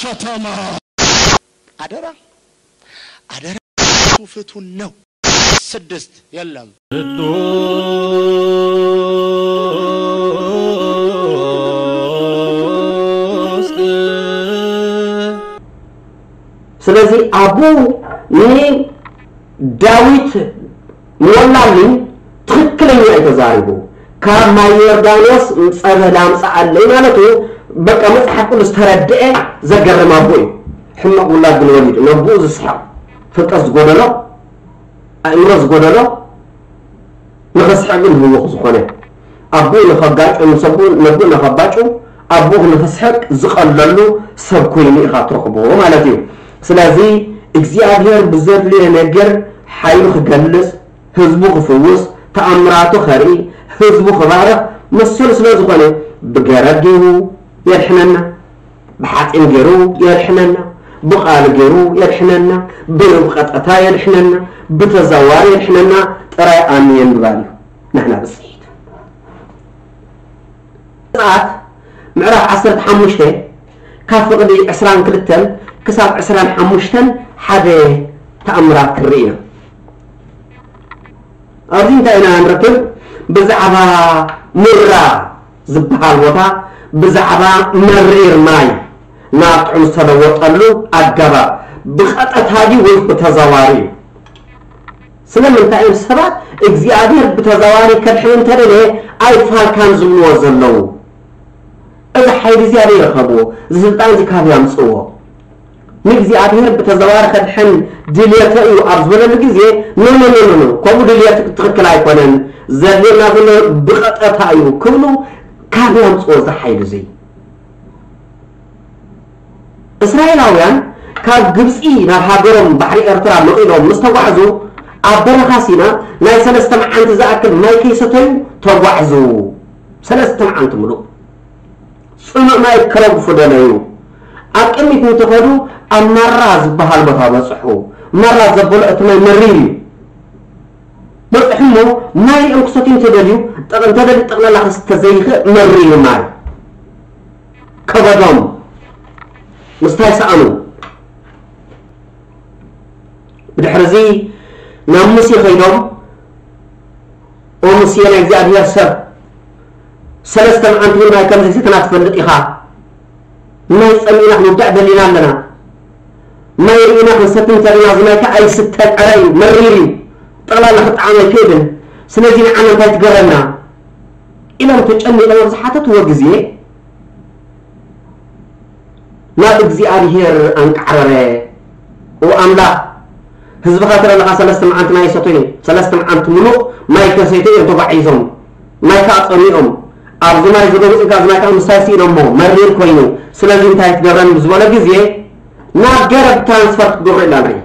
ከተማ። አደራ አደራ፣ ፍቱን ነው። ስድስት የለም። ስለዚህ ኣቦኡ ንዳዊት ሞላልኝ ትኽክለኛ እዩ ተዛሪቡ። ካብ ማይ ዮርዳኖስ ጸበል ኣምጽኣለይ ማለቱ፣ በቃ መጽሓፍ ቅዱስ ተረድኤ። ዘገርም ኣቦ እዩ። ሕማቕ ውላድ ግን ወሊዱ፣ ነቦኡ ዝስሕቕ፣ ፍልጠት ዝጎደሎ፣ ኣእምሮ ዝጎደሎ፣ ንኽስሕቕ ግን ህውኽ ዝኾነ፣ ኣቦኡ ንኸጋጩ፣ ምስ ኣቦኡ፣ ነቦኡ ንኸባጩ፣ ኣቦኡ ንኽስሕቕ ዝቐለሉ ሰብ ኮይኑ ኢኻ ትረኽቦ ማለት እዩ። ስለዚ እግዚኣብሔር ብዘድልዮ ነገር ሓይሉ ክገልጽ፣ ህዝቡ ክፍውስ፣ ተኣምራቱ ከርኢ፣ ህዝቡ ክባርኽ መሰሉ ስለ ዝኾነ፣ ብገረብ ገይሩ የድሕነና፣ ብሓጺን ገይሩ የድሕነና፣ ብቓሉ ገይሩ የድሕነና፣ ብቀጥታ የድሕነና፣ ብተዘዋዋሪ የድሕነና። ጥራይ ኣሜን ምባል እዩ ናህና ብጽሒት። ዘጸኣት ምዕራፍ ዓሰርተ ሓሙሽተ ካብ ፍቕዲ ዕስራን ክልተን ክሳብ ዕስራን ሓሙሽተን ሓደ ተኣምራት ክንርኢ ኢና። ኣብዚ እንታይ ኢና ንረክብ? ብዛዕባ ሙራ ዝበሃል ቦታ፣ ብዛዕባ መሪር ማይ ናብ ጥዑም ዝተለወጠሉ ኣገባብ፣ ብቐጥታ ድዩ ወይስ ብተዘዋዋሪ እዩ? ስለምንታይ እዮም ሰባት እግዚኣብሔር ብተዘዋዋሪ ከድሕን እንተደለየ ኣይፋልካን ዝብልዎ ዘለዉ? እዚ ሓይሊ እዚ ኣበይ ረኸብዎ? እዚ ስልጣን እዚ ካበይ ኣምጽእዎ? ንእግዚኣብሔር ብተዘዋዋሪ ከድሕን ድልየተ እዩ ኣብ ዝበለሉ ግዜ፣ ኖ፣ ኖ፣ ኖ፣ ኖ፣ ኖ፣ ከምኡ ድልየት ትኽክል ኣይኮነን፣ ዘድልየና ዘሎ ብቐጥታ እዩ ክብሉ ካበይ ኣምጽእዎ እዚ ሓይሊ እዚ? እስራኤላውያን ካብ ግብጺ ናብ ሃገሮም ባሕሪ ኤርትራ መቒሎም ምስ ተጓዕዙ፣ ኣብ በረኻ ሲና ናይ ሰለስተ መዓልቲ ዝኣክል ማይ ከይሰተዩ ተጓዕዙ። ሰለስተ መዓልቲ ምሉእ ጽኑዕ ማይ ከረግፉ ደለዩ። ኣብ ቅድሚት እንተኸዱ ኣብ ማራ ዝበሃል ቦታ በጽሑ። ማራ ዘበሎ እቲ ማይ መሪር እዩ። በጽሑ እሞ ማይ ሪኦም ክሰትዩ እንተደልዩ፣ ጠቕ-፣ እንተደልዩ ጠቕላላ ክስተ ዘይኽእ መሪር ማይ። ከበዶም ምስታይ ሰኣኑ። ብድሕርዚ ናብ ሙሴ ከይዶም፣ "ኦ ሙሴ ናይ እግዚኣብሔር ሰብ፣ ሰለስተ መዓልቲ እውን ማይ ከም ዘይሰተና ትፈልጥ ኢኻ። ማይ ጸሚእና ክንውዳእ ደሊና ኣለና። ማይ ርኢና ክንሰቲ እንተልና፣ እዚ ማይ ከኣ ኣይስተን፣ ዕረ እዩ፣ መሪር እዩ፣ ጠቕላላ ክጠዓም ኣይክእልን። ስለዚ ንዓና እንታይ ትገብረና?" ኢሎም ተጨኒቖም ኣብ ዝሓተትዎ ግዜ፣ ናብ እግዚኣብሔር ኣንቃዕረረ። "ኦ ኣምላኽ፣ ህዝብኻ ትርኢ ኣለኻ፣ ሰለስተ መዓልቲ ማይ ኣይሰተዩን፣ ሰለስተ መዓልቲ ምሉእ ማይ ከይሰተዩ እዮም ተጓዒዞም፣ ማይ ከኣ ጸሚኦም። ኣብዚ ማይ ዝገቡ ጽጋ፣ እዚ ማይ ከኣ ምስታይ ስኢኖሞ፣ መሪር ኮይኑ፣ ስለዚ እንታይ ክትገብረኒ?" ብዝበሎ ግዜ፣ ናብ ገረብ ትራንስፈር ክትገብሮ ኢልና ንርኢ።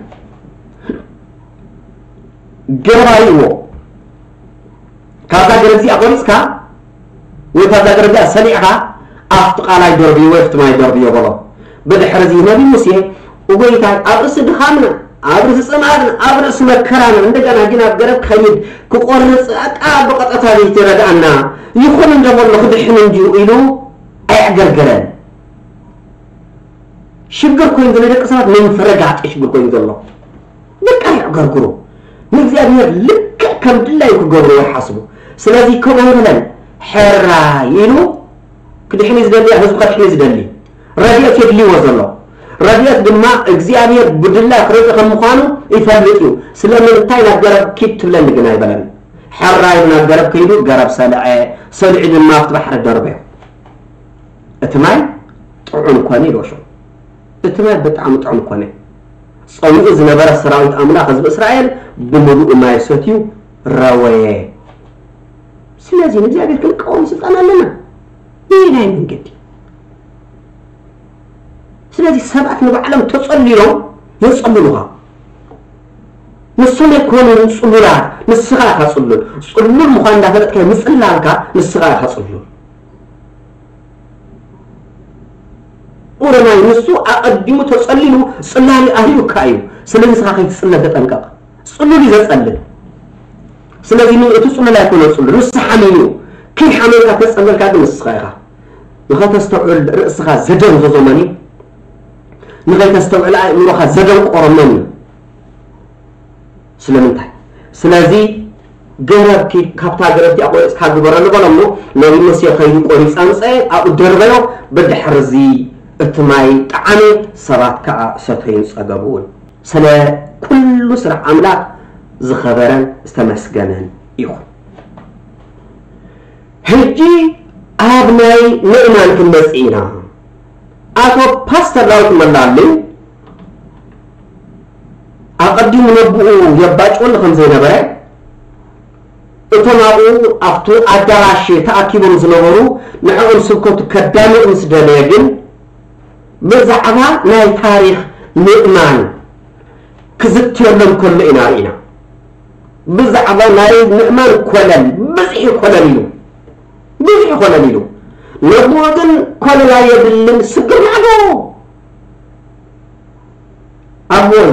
ገረብ ኣርእይዎ። ካብዛ ገረብ እዚኣ ቆሪጽካ ወይ ካብዛ ገረብ እዚኣ ሰሊዕካ ኣብቲ ቃላይ ደርብዮ ወይ ኣብቲ ማይ ደርብዮ በሎ። ብድሕሪ እዚ ነቢ ሙሴ፣ "እጎይታይ፣ ኣብ ርእሲ ድኻምና፣ ኣብ ርእሲ ጽምኣትና፣ ኣብ ርእሲ መከራና፣ እንደገና ግን ኣብ ገረብ ክኸይድ ክቆርጽ፣ ኣቃ ብቐጥታ ዘይትረድኣና፣ ይኹን እንደ በሎ ክድሕን እንድዩ" ኢሉ ኣየዕገርገረን። ሽግር ኮይኑ ዘሎ ደቂ ሰባት ምፍርጋጥ ሽግር ኮይኑ ዘሎ። በቃ የዕገርግሩ። ንእግዚኣብሔር ልክዕ ከም ድላዩ ክገብርዎ ይሓስቡ። ስለዚ ከምኡ ኣይበለን። ሕራይ ኢሉ ክድሕን እዩ ዝደሊ፣ ህዝቡ ከድሕን እዩ ዝደሊ። ረድኤት የድልይዎ ዘሎ። ረድኤት ድማ እግዚኣብሔር ብድላይ ክረድእ ከም ምዃኑ ይፈልጥ እዩ። ስለምንታይ ናብ ገረብ ኪድ ትብለኒ ግን ኣይበለን። ሕራይ ናብ ገረብ ከይዱ ገረብ ሰልዐ፣ ሰሊዑ ድማ ኣብቲ ባሕሪ ደርበዮ። እቲ ማይ ጥዑም ኮነ ኢልዎ ሽዑ። እቲ ማይ ብጣዕሚ ጥዑም ኮነ። ጸሚኡ ዝነበረ ሰራዊት ኣምላኽ ህዝቢ እስራኤል ብምሉኡ ማይ ሰትዩ ረወየ። ስለዚ ንእግዚኣብሔር ክንቃወም ስልጣን ኣለና። በየናይ መንገዲ? ስለዚ ሰባት ንባዕሎም ተጸሊሎም የጸልሉኻ። ንሶም ኣይኮኑን ጽሉላት፣ ንስኻ ኢኻ ጽሉል። ጽሉል ምዃን እንዳፈለጥካ ምጽላልካ ንስኻ ኢኻ ጽሉል። ኦሮማይ ንሱ ኣቐዲሙ ተጸሊሉ ጽላሊ ኣርዩካ እዩ። ስለዚ ንስኻ ከይትጽለል ተጠንቀቕ። ጽሉል እዩ ዘጸልል። ስለዚ ን-፣ እቲ ጽሉል ኣይኮነ ጽሉል፣ ንሱ ሓሚሙ እዩ። ከይሓመምካ ተጸለልካ ግን ንስኻ ኢኻ። ንኸተስተውዕል ርእስኻ ዘደንዘዞ መን እዩ? ንኸይተስተውዕል ኣእምሮኻ ዘደንቆሮ መን እዩ? ስለምንታይ? ስለዚ ገረብ ኪድ ካብታ ገረብ እቲኣ ቆሪፅካ ግበረሉ በሎ እሞ፣ ነቢ ሙሴ ከይዱ ቆሪፁ ኣምፀ፣ ኣብኡ ደርበዮ። ብድሕርዚ እቲ ማይ ጠዓመ፣ ሰባት ከዓ ሰተዩን ፀገቡን። ስለ ኩሉ ስራሕ ኣምላኽ ዝኸበረን ዝተመስገነን ይኹን። ሕጂ ኣብ ናይ ምእማን ክንመጽእ ኢና። ኣቶ ፓስተር ዳዊት መላለይ ኣቐዲሙ ነብኡ የባጭወሉ ከም ዘይነበረ፣ እቶም ኣብኡ ኣብቲ ኣዳራሽ ተኣኪቦም ዝነበሩ ንዕኦም ስብከቱ ከዳምቕ ምስ ደለየ ግን፣ ብዛዕባ ናይ ታሪኽ ምእማን ክዝትየሎም ከሎ ኢና ርኢና። ብዛዕባ ናይ ምእማን ኮለል፣ ብዝሒ ኮለል ኢሉ፣ ብዝሒ ኮለል ኢሉ። ነብኡ ግን ኮለል ኣየድልን፣ ስግር ማዕዶ። ኣቦይ፣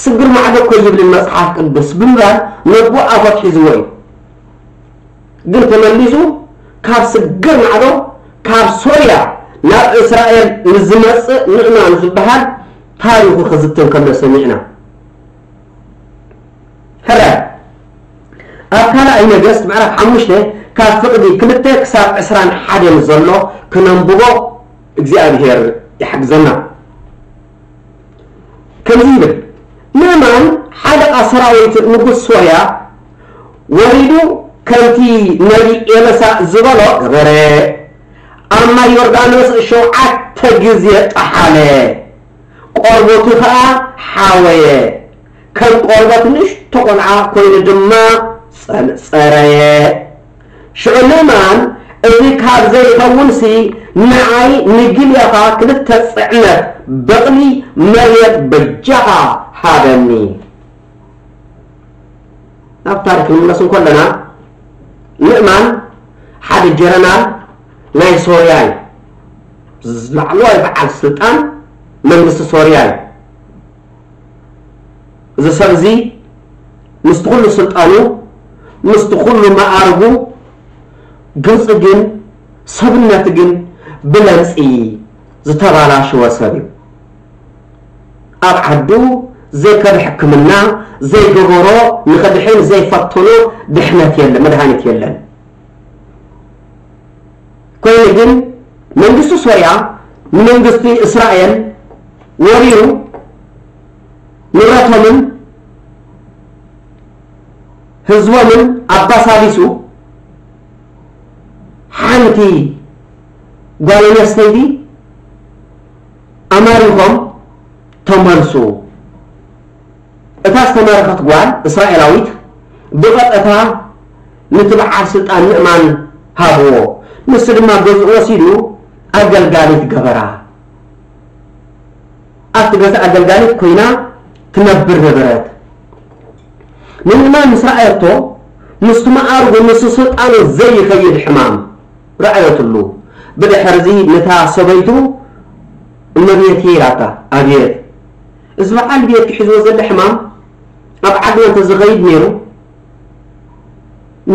ስግር ማዕዶ እኮ ይብልን መጽሓፍ ቅዱስ ብምባል ነብኡ ኣፎት ሒዝዎ እዩ። ግን ተመሊሱ ካብ ስግር ማዕዶ፣ ካብ ሶርያ ናብ እስራኤል ንዝመጽእ ምእማን ዝበሃል ታሪኹ ክዝትን ከሎ ሰሚዕና። ሕራይ ኣብ ካልኣይ ነገስት ምዕራፍ ሓሙሽተ ካብ ፍቕዲ ክልተ ክሳብ ዕስራን ሓደን ዘሎ ክነንብቦ እግዚኣብሔር ይሓግዘና። ከምዚ ይብል፣ ንእማን ሓለቓ ሰራዊት ንጉስ ሶርያ ወሪዱ ከምቲ ነቢ ኤልሳእ ዝበሎ ገበረ። ኣብ ማይ ዮርዳኖስ ሸውዓተ ግዜ ጠሓለ፣ ቆርበቱ ኸኣ ሓወየ፣ ከም ቆርበት ንእሽቶ ቈልዓ ኰይኑ ድማ ጸርጸረየ። ሽዑ ንእማን፣ እዚ ካብ ዘይኸውንሲ፣ ንዓይ ንጊልያኻ ክልተ ጽዕነት በቕሊ መሬት በጃኻ ሃበኒ። ናብ ታሪኽ ክንምለስ እንከለና፣ ንእማን ሓደ ጀነራል ናይ ሶርያ እዩ። ላዕለዋይ በዓል ስልጣን መንግስቲ ሶርያ እዩ። እዚ ሰብ እዚ ምስቲ ኩሉ ስልጣኑ፣ ምስቲ ኩሉ መኣርጉ፣ ገጽ ግን፣ ሰብነት ግን ብለምጺ ዝተባላሸወ ሰብ እዩ። ኣብ ዓዱ ዘይከደ ሕክምና ዘይገበሮ፣ ንኸድሕን ዘይፈተኖ ድሕነት የለን፣ መድሃኒት የለን። ኮይኑ ግን መንግስቲ ሶርያ ንመንግስቲ እስራኤል ወሪሩ ንብረቶምን ህዝቦምን ኣባሳቢሱ ሓንቲ ጓል ኣንስተይቲ ኣማሪኾም ተመልሱ። እታ ዝተማረኸት ጓል እስራኤላዊት ብቐጥታ ነቲ በዓል ስልጣን ንእማን ሃብዎ። ንሱ ድማ ገዝኡ ወሲዱ ኣገልጋሊት ገበራ። ኣብቲ ገዛ ኣገልጋሊት ኮይና ትነብር ነበረት። ንእማን ምስ ረኣየቶ፣ ምስቲ መኣርጉ፣ ምስቲ ስልጣኑ ዘይኸይድ ሕማም ረኣየትሉ። ብድሕርዚ ነታ ሰበይቱ፣ "እመቤቴ" ኢላታ። "ኣቤት?" "እዚ በዓል ቤትኪ ሒዝዎ ዘሎ ሕማም ኣብ ዓድና እንተዝኸይድ ነይሩ፣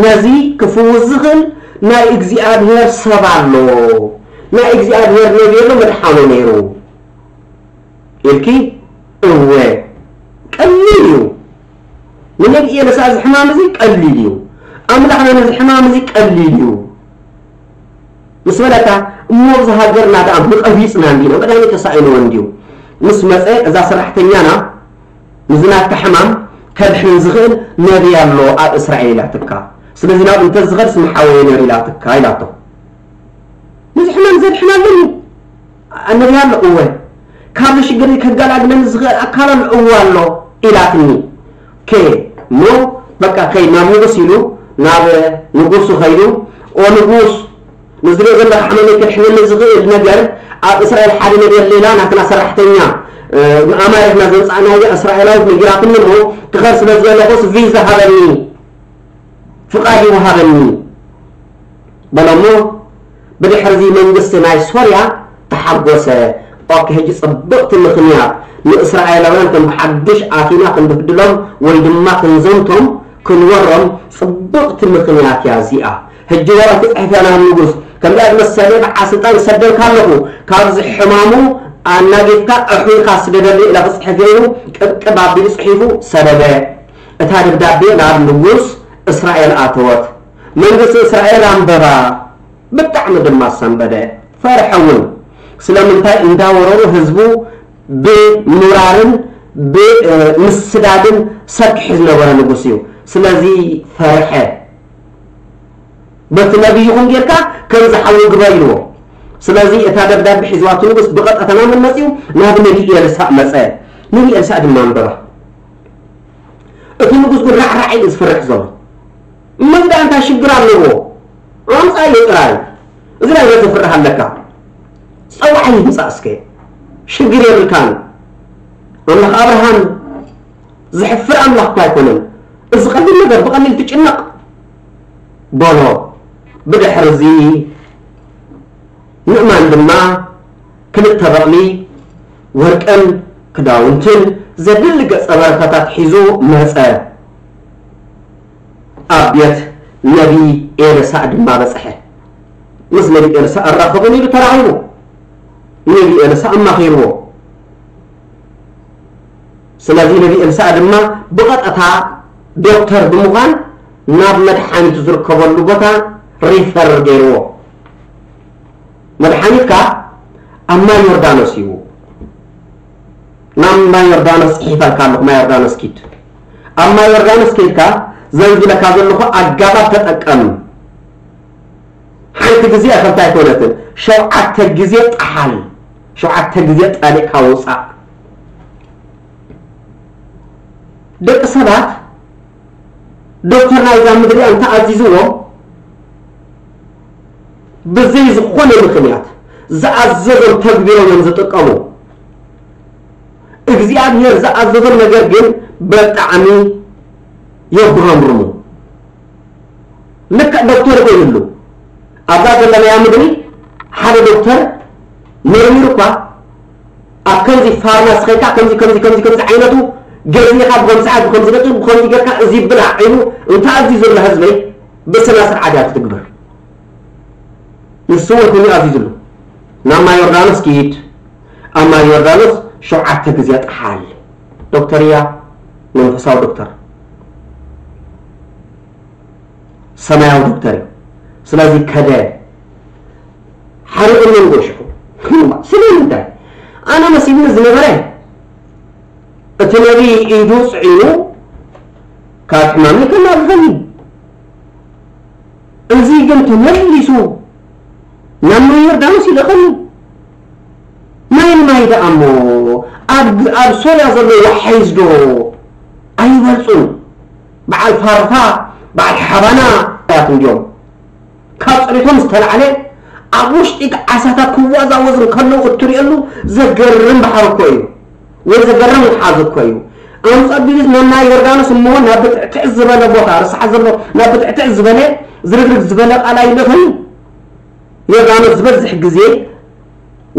ነዚ ክፍውስ ዝኽእል ናይ እግዚኣብሔር ሰብ ኣሎ፣ ናይ እግዚኣብሔር ነብይ ኣሎ፣ መድሓኖ ነይሩ" ኢልኪ? እወ፣ ቀሊል እዩ። ንነቢ ኤልሳ እዚ ሕማም እዚ ቀሊል እዩ። ኣምላኽና ነዚ ሕማም እዚ ቀሊል እዩ ምስ በለታ፣ እሞ ኣብዚ ሃገርና ደኣ ምቐቢጽና እንዲና፣ መድሃኒት ተሳኢንዎ እንድዩ ምስ መጸ፣ እዛ ሰራሕተኛና፣ "ንዚ ናትካ ሕማም ከድሕን ዝኽእል ነብይ ኣሎ ኣብ እስራኤል" ኢላትካ። "ስለዚ ናብኡ እንተዝኸድስ ምሓወየ ነይሩ" ኢላትካ ኢላቶ። "ነዚ ሕማም ዘድሕን ኣለኒ ነብይ ኣሎ?" "እወ።" "ካብዚ ሽግር ከገላግለኒ ዝኽእል ኣካል ኣሎ?" "እወ ኣሎ" ኢላትኒ። ኦኬ፣ እሞ በቃ ከይድ ናብ ንጉስ ኢሉ ናብ ንጉሱ ከይዱ፣ "ኦ ንጉስ፣ ንዝሪኦ ዘለኻ ሕማመይ ከድሕነኒ ዝኽእል ነገር ኣብ እስራኤል ሓደ ነገር ሌላ ናትና ሰራሕተኛ፣ እ፣ ኣማሪኽና ዘምጻእናያ እስራኤላዊት ነጊራትኒ እሞ ክኸድ ስለ ዝበለኹስ ቪዛ ሃበኒ፣ ፍቓድ ይወሃበኒ" በሎ እሞ ብድሕርዚ መንግስቲ ናይ ሶርያ ተሓጎሰ። ኦኬ፣ ሕጂ ጽብቕቲ ምኽንያት ንእስራኤላውያን ከም ብሓድሽ ኣቲና ክንብህድሎም ወይ ድማ ክንዘምቶም ክንወሮም ጽብቕቲ ምኽንያት እያ እዚኣ። ሕጂ ወረቕቲ ጽሒፈ ናብ ንጉስ፣ ከምዚኣ ዝመሰለ በዓል ስልጣን ይሰደልካ ኣለኹ፣ ካብዚ ሕማሙ ኣናጊፍካ ኣሕዊልካ ስደደሉ ኢላ ክጽሕፍ ኢሉ ቅብቅብ ኣቢሉ ጽሒፉ ሰደደ። እታ ደብዳቤ ናብ ንጉስ እስራኤል ኣተወት። መንግስቲ እስራኤል ኣንበባ፣ ብጣዕሚ ድማ ሰንበደ። ፈርሐ እውን። ስለምንታይ እንዳወረሩ ህዝቡ ብምውራርን ብምስዳድን ሰርኪሑ ዝነበረ ንጉስ እዩ። ስለዚ ፈርሐ። በቲ ነቢይኹም ጌርካ ከም ዝሓዊ ግበር ኢልዎ። ስለዚ እታ ደብዳቤ ሒዝዋ እቲ ንጉስ ብቐጥታ ናብ መን መጺኡ? ናብ ነቢ ኤልሳእ መጸ። ነቢ ኤልሳእ ድማ ኣንበባ። እቲ ንጉስ ግን ራዕራዕ ኢሉ ዝፈርሕ ዘሎ። እሞ እዚ ደኣ እንታይ ሽግር ኣለዎ? ኣምጻዮ ጥራይ። እዚ ናይ ዘፍርህ ኣለካ። ጸዋዕ ይምጻእ እስከ። ሽግር የብልካን። ኣምላኽ ኣብርሃም ዝሕፍር ኣምላኽ እኳ ኣይኮነን። እዚ ቀሊል ነገር ብቐሊል ትጭነቕ በሎ። ብድሕሪ እዚ ንእማን ድማ ክልተ በቕሊ ወርቅን ክዳውንትን ዘድሊ ገጸ በረከታት ሒዙ መጸ። ኣብ ቤት ነቢ ኤልሳእ ድማ በጽሐ። ምስ ነቢ ኤልሳእ ኣራኽቡን ኢሉ ተራኺቡ። ነቢ ኤልሳእ ኣማኺርዎ። ስለዚ ነቢ ኤልሳእ ድማ ብቐጥታ ዶክተር ብምዃን ናብ መድሓኒቱ ዝርከበሉ ቦታ ሪፈር ገይርዎ። መድሓኒትካ ኣብ ማይ ዮርዳኖስ እዩ። ናብ ማይ ዮርዳኖስ ጽሒፈልካ ኣለኹ፣ ማይ ዮርዳኖስ ኪድ። ኣብ ማይ ዮርዳኖስ ከይድካ ዘንዝለካ ዘለኹ ኣጋባብ ተጠቀም። ሓንቲ ግዜ ከምታ ኣይኮነትን፣ ሸውዓተ ግዜ ጠሓል፣ ሸውዓተ ግዜ ጠሊቕካ ውፃእ። ደቂ ሰባት ዶክተር ናይዛ ምድሪ እንተኣዚዝዎም ብዘይ ዝኾነ ምኽንያት ዝኣዘዞም ተግቢሮም እዮም ዝጥቀሙ። እግዚኣብሔር ዝኣዘዞም ነገር ግን ብጣዕሚ የጉረምርሙ። ልክዕ ዶክተር ኮይኑሉ ኣብዛ ዘለናያ ምድሪ ሓደ ዶክተር መርሚሩ እኳ ኣብ ከምዚ ፋርማሲ ከይድካ ከምዚ ከምዚ ከምዚ ከምዚ ዓይነቱ ገዚእኻ ብከምዚ ሰዓት ብከምዚ ደቂቕ ብከምዚ ጌርካ እዚ ብላዕ ኢሉ እንተኣዚዙ ዘሎ ህዝበይ ብስነ ስርዓት እያ ክትግበር። ንሱ እውን ከምኡ ኣዚዙሉ። ናብ ማይ ዮርዳኖስ ኪድ፣ ኣብ ማይ ዮርዳኖስ ሸውዓተ ግዜ ጠሓል። ዶክተር እያ፣ መንፈሳዊ ዶክተር፣ ሰማያዊ ዶክተር እዩ። ስለዚ ከደ ሓሪቑኒ ንጎሽሑ። ስለምንታይ? ኣነ መሲልኒ ዝነበረ እቲ ነቢ ኢዱ ጽዒኑ ካብ ሕማመይ ከናግፈኒ። እዚ ግን ተመሊሱ ናብ ማይ ዮርዳኖስ ይልእኸኒ። ማይ ንማይ ደኣ እሞ ኣብ ኣብ ሶርያ ዘሎ ዋሓይዝ ዶ ኣይበልጹን? በዓል ፋርፋ፣ በዓል ሓባና ያት እንዲዮም። ካብ ጸሪቶም ዝተላዕለ ኣብ ውሽጢ ዓሳታት ክወዛወዝ እንከለዉ እትርእየሉ ዘገርም ባሕሪ እኮ እዩ። ወይ ዘገርም ውሓዝ እኮ እዩ። ኣንጸቢሊስ ናብ ናይ ዮርዳኖስ እሞ ናብ ብትዕትዕ ዝበለ ቦታ፣ ርሳሕ ዘሎ ናብ ብትዕትዕ ዝበለ ዝርግርግ ዝበለ ቃላይ ይልእኸኒ። ዮርዳኖስ ዝበዝሕ ግዜ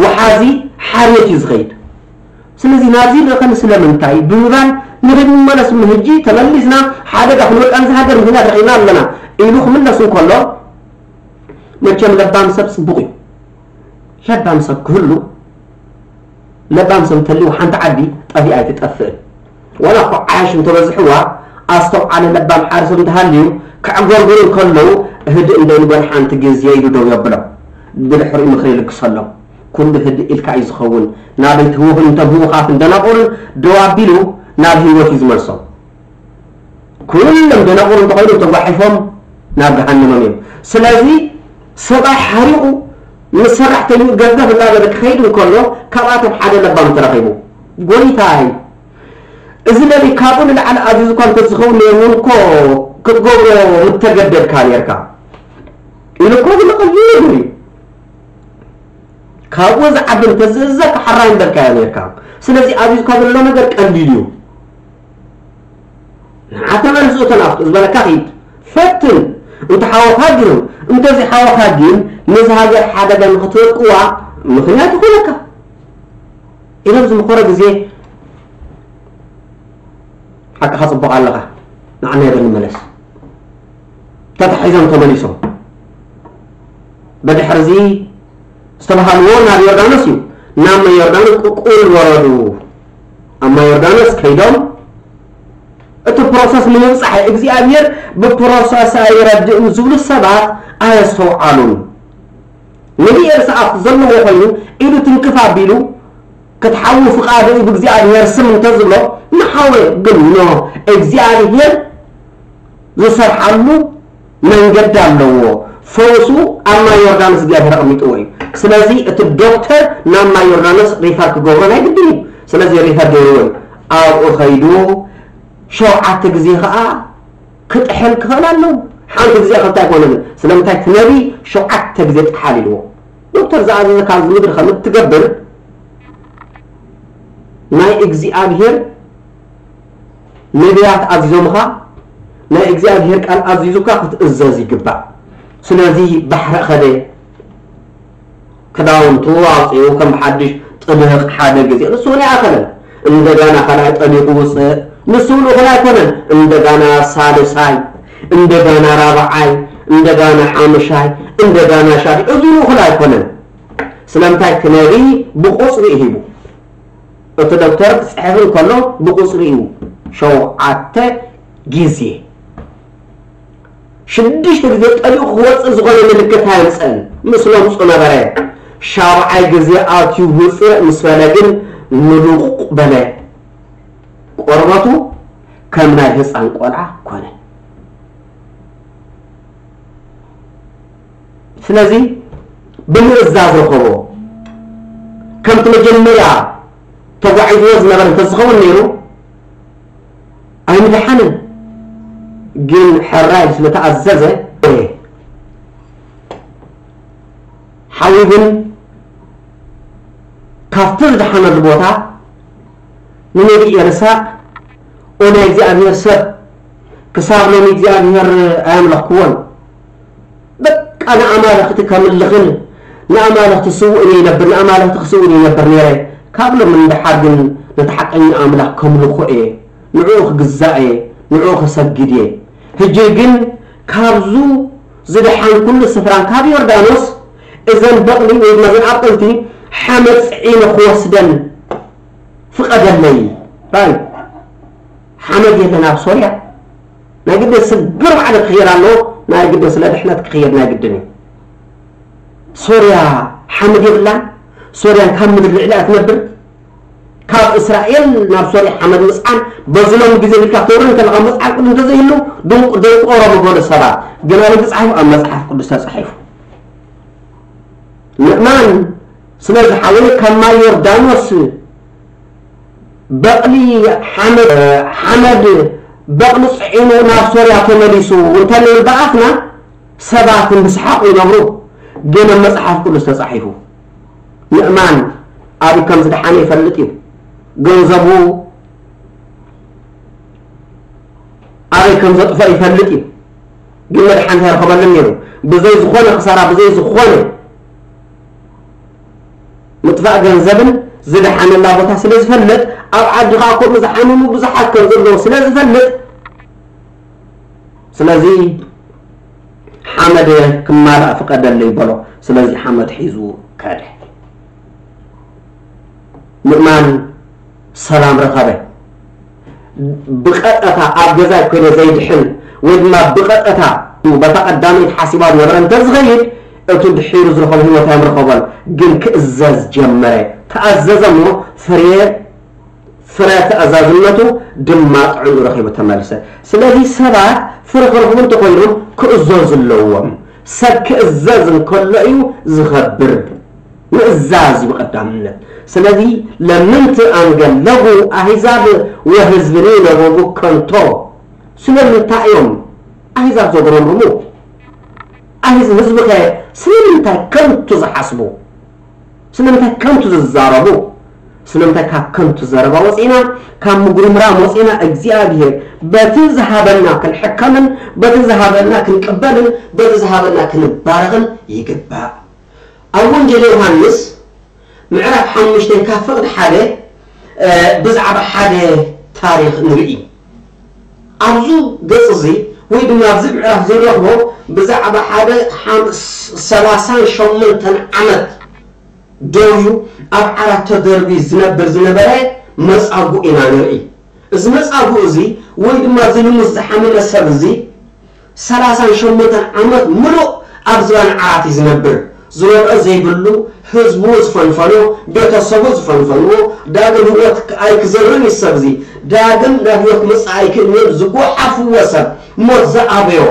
ወሓዚ ሓርየት እዩ ዝኸይድ። ስለዚ ናብዚ ይልእኸኒ ስለምንታይ ብምባል ንኽንመለስ ምህጂ ተመሊስና ሓደጋ ክንወድቃ ነዚ ሃገር ምኽንያት ረኺብና ኣለና ኢሉ ክምለስ እንከሎ መቸም ለባም ሰብ ጽቡቕ እዩ። ለባም ሰብ ክህሉ ለባም ሰብ እንተልዩ ሓንቲ ዓዲ ጠፊኣ ኣይትጠፍእን። ዋላ እኮ ዓያሽ እንተበዝሕዋ ኣስተውዓሊ ለባም ሓደ ሰብ እንተሃልዩ ከዕጎርጉሩ እንከለዉ ህድእ እንደይንበል ሓንቲ ግዜ ኢሉ ደው የብሎም። ብድሕሪኡ ምኽሪ ይልግሰሎም። ኩሉ ህድእ ኢልካ እዩ ዝኸውን። ናበይ ትህውኹን እንተ ብኡኻትን ደናቑርን ደው ኣቢሉ ናብ ህይወት እዩ ዝመልሶም። ኩሎም ደናቑር እንተኾይኑ ተጓሒፎም ናብ ገሃነሞም እዮም። ስለዚ ሰብኣይ ሓሪቑ ምስ ሰራሕተይኡ ገፍገፍ እናበለ ክኸይድ እንከሎ ካብኣቶም ሓደ ለባም ተረኺቡ። ጎይታይ፣ እዚ ነቢ ካብኡ ንላዕሊ ኣዚዙካ እንተዝኸውን ነይሩ እውን እኮ ክትገብሮ ምተገደድካ ነይርካ ኢሉ እኮ ዝለቐ ዝነግር እዩ። ካብኡ ዝዓቢ እንተዝእዘዝ ሓራይ ምበልካዮ ነይርካ። ስለዚ ኣዚዙካ ዘሎ ነገር ቀሊል እዩ። ንዓ ተመልስ እቶ ናፍቱ ዝበለካ ኺድ ፈትን። እንተ ሓወካ ግን እንተዘይሓወካ ግን ነዚ ሃገር ሓደጋ ንኽትወድቅዋ ምኽንያት ይኾነካ ኢሎም ዝምኸሮ ግዜ ሓቅኻ ጽቡቕ ኣለኻ። ንዓና ይበል ንመለስ። ተታሒዞም ተመሊሶም። ብድሕርዚ ዝተባሃልዎ ናብ ዮርዳኖስ እዩ። ናብ ማይ ዮርዳኖስ ቁልቁል ወረዱ። ኣብ ማይ ዮርዳኖስ ከይዶም እቲ ፕሮሰስ ንምብጻሕ እግዚኣብሔር ብፕሮሰስ ኣይረድእን ዝብሉ ሰባት ኣየስተውዓሉን። ነቢ ኤልሳ ኣብቲ ዘለዎ ኮይኑ ኢዱ ትንክፍ ኣቢሉ ክትሓዊ ፍቓዱ እዩ ብእግዚኣብሔር ስም እንተዝብሎ ምሓወ። ግን ኖ፣ እግዚኣብሔር ዝሰርሓሉ መንገዲ ኣለዎ። ፈውሱ ኣብ ማይ ዮርዳኖስ እግዚኣብሔር ኣቐሚጥዎ እዩ። ስለዚ እቲ ዶክተር ናብ ማይ ዮርዳኖስ ሪፈር ክገብሮ ናይ ግድን እዩ። ስለዚ ሪፈር ገይርዎ እዩ። ኣብኡ ኸይዱ ሸውዓተ ግዜ ኸዓ ክጥሕል ክኽእል ኣለዎ። ሓንቲ ግዜ ክልተ ኣይኮነን። ስለምንታይ እቲ ነቢ ሸውዓተ ግዜ ጥሓል ኢልዎ? ዶክተር ዝኣዘዘካ ኣብዚ ምድሪ ከም እትገብር ናይ እግዚኣብሔር ነቢያት ኣዚዞምኻ፣ ናይ እግዚኣብሔር ቃል ኣዚዙካ ክትእዘዝ ይግባእ። ስለዚ ባሕሪ ኸደ፣ ክዳውንቱ ኣውፂኡ ከም ሓድሽ ጥልቕ ሓደ ግዜ፣ ንሱ እውን ኣይኣኸለን። እንደገና ካልኣይ ጠሊቑ ውፅእ፣ ንሱ እውን እኹል ኣይኮነን። እንደገና ሳልሳይ፣ እንደገና ራብዓይ፣ እንደገና ሓምሻይ፣ እንደገና ሻድሻይ፣ እዚ እውን እኹል ኣይኮነን። ስለምንታይ እቲ ነቢይ ብቁፅሪ እዩ ሂቡ። እቲ ዶክተር ክፅሕፍ እንከሎ ብቁፅሪ እዩ፣ ሸውዓተ ግዜ። ሽዱሽተ ግዜ ጠሊቑ ክወፅእ ዝኾነ ምልክት ኣየምፅእን። ምስሎም ፁ ነበረ። ሻብዓይ ግዜ ኣትዩ ውፅእ ምስ በለ ግን ምሉቕ በለ። ቆርበቱ ከም ናይ ህፃን ቆልዓ ኮነ። ስለዚ ብምእዛዝ ረኸቦ። ከምቲ መጀመርያ ተጓዒዝዎ ዝነበረ እንተዝኸውን ነይሩ ኣይምድሓንን። ግን ሕራይ ስለተኣዘዘ ሓዊ ግን ካብቲ ዝደሓነሉ ቦታ ንነቢይ ኤልሳዕ፣ "ኦ ናይ እግዚኣብሔር ሰብ፣ ክሳብ ሎሚ እግዚኣብሔር ኣየምለኽክዎን። በቃ ንኣማልኽቲ ከምልኽን ንኣማልኽቲ ስውእን ይነብር፣ ንኣማልኽቲ ክስውእን ይነብር ነይረ። ካብ ሎሚ ንደሓር ግን ነቲ ሓቀኛ ኣምላኽ ከምልኾ እየ፣ ንዕኡ ክግዛእ እየ፣ ንዕኡ ክሰግድ እየ። ሕጂ ግን ካብዙ ዝደሓንኩሉ ስፍራን ካብ ዮርዳኖስ እዘን በቕሊ ወይ ድማ እዘን ኣብቅልቲ ሓመድ ጽዒነ ክወስደን ፍቐደለይ።" ራይ ሓመድ የለን ኣብ ሶርያ። ናይ ግድን ስግር ባዕሉ ክኽየድ ኣለዎ። ናይ ግድን ስለ ድሕነት ክኽየድ ናይ ግድን እዩ። ሶርያ ሓመድ የብላን። ሶርያን ካብ ምድሪ ልዕሊ እያ ትነብር። ካብ እስራኤል ናብ ሶርያ ሓመድ ምጽዓን በዚ ሎሚ ግዜ ኢልካ ተውሪ እንከለኻ መጽሓፍ ቅዱስ እንተዘይህሉ ድንቁ-፣ ደንቆሮ ምበሉ ሰባት። ግን ኣበይ ተጻሒፉ? ኣብ መጽሓፍ ቅዱስ ተጻሒፉ። ምእማን ስለዚ ሓወይ ካብ ማይ ዮርዳኖስ በቕሊ ሓመድ፣ ሓመድ በቕሊ ጽዒኑ ናብ ሶርያ ተመሊሱ እንተንብል ብኣፍና ሰባት እንድስሓቑ ይነብሩ። ግን ኣብ መጽሓፍ ቅዱስ ተጻሒፉ። ምእማን ኣበይ ከም ዝደሓነ ይፈልጥ እዩ። ገንዘቡ ኣበይ ከም ዘጥፍኦ ይፈልጥ እዩ። ግን መድሓኒት ኣይረኸበሉን ነይሩ። ብዘይ ዝኾነ ክሳራ፣ ብዘይ ዝኾነ ምጥፋእ ገንዘብን ዝደሓነላ ቦታ ስለ ዝፈልጥ፣ ኣብ ዓዲ ኸዓ ከምኡ ዝሓመሙ ብዙሓት ከም ዘለዉ ስለ ዝፈልጥ፣ ስለዚ ሓመድ ክማላእ ፍቀደለይ በሎ። ስለዚ ሓመድ ሒዙ ከደ። ምእማን ሰላም ረኸበ። ብቐጥታ ኣብ ገዛ ኮይነ ዘይድሕን ወይ ድማ ብቐጥታ በታ ቀዳመይቲ ሓሲባ ዝነበረ እንተዝኸይድ፣ እቲ ድሒሩ ዝረኸቦ ህይወት ኣይምረኸቦን። ግን ክእዘዝ ጀመረ። ተኣዘዘ እሞ ፍሬ፣ ፍረ ተኣዛዝነቱ ድማ ጥዕንኡ ረኺቡ ተመልሰ። ስለዚ ሰባት ፍረ ክረኽቡ እንተኾይኖም ክእዘዙ ኣለዎም። ሰብ ክእዘዝ እንከሎ እዩ ዝኸብር። ምእዛዝ እዩ ቀዳምነት። ስለዚ ለምንት ኣንገለጉ ኣህዛብ ወህዝብኒ ነበቡ ከንቶ። ስለምንታይ እዮም ኣህዛብ ዘጉረምርሙ? ኣህዝ-፣ ህዝቢ ከ ስለምንታይ ከንቱ ዝሓስቡ? ስለምንታይ ከንቱ ዝዛረቡ? ስለምንታይ ካብ ከንቱ ዘረባ ወፂና፣ ካብ ምጉርምራም ወፂና፣ እግዚኣብሔር በቲ ዝሃበና ክንሕከምን፣ በቲ ዝሃበና ክንቅበልን፣ በቲ ዝሃበና ክንባረኽን ይግባእ። ኣብ ወንጌል ዮሃንስ ምዕራፍ ሓሙሽተ ካብ ፍቕዲ ሓደ፣ እ፣ ብዛዕባ ሓደ ታሪኽ ንርኢ። ኣብዚ ገጽ እዚ ወይ ድማ ኣብዚ ምዕራፍ እዚ ንረኽቦ ብዛዕባ ሓደ ሓም-፣ ሰላሳን ሸሞንተን ዓመት ደውዩ ኣብ ዓራት ተደርቢ ዝነብር ዝነበረ መጻጉ ኢና ንርኢ። እዚ መጻጉ እዚ ወይ ድማ እዚ ልሙስ ዝሓመመ ሰብ እዚ ሰላሳን ሸሞንተን ዓመት ምሉእ ኣብ ዝባን ዓራት እዩ ዝነብር። ዝበልዖ ዘይብሉ፣ ህዝቡ ዝፈንፈኖ፣ ቤተሰቡ ዝፈንፈንዎ፣ ዳግም ህይወት ኣይክዘርን እዩ ሰብ እዚ። ዳግም ናብ ህይወት ክመጽእ ኣይክእልን እዮም ዝጎሓፍዎ ሰብ፣ ሞት ዝኣበዮ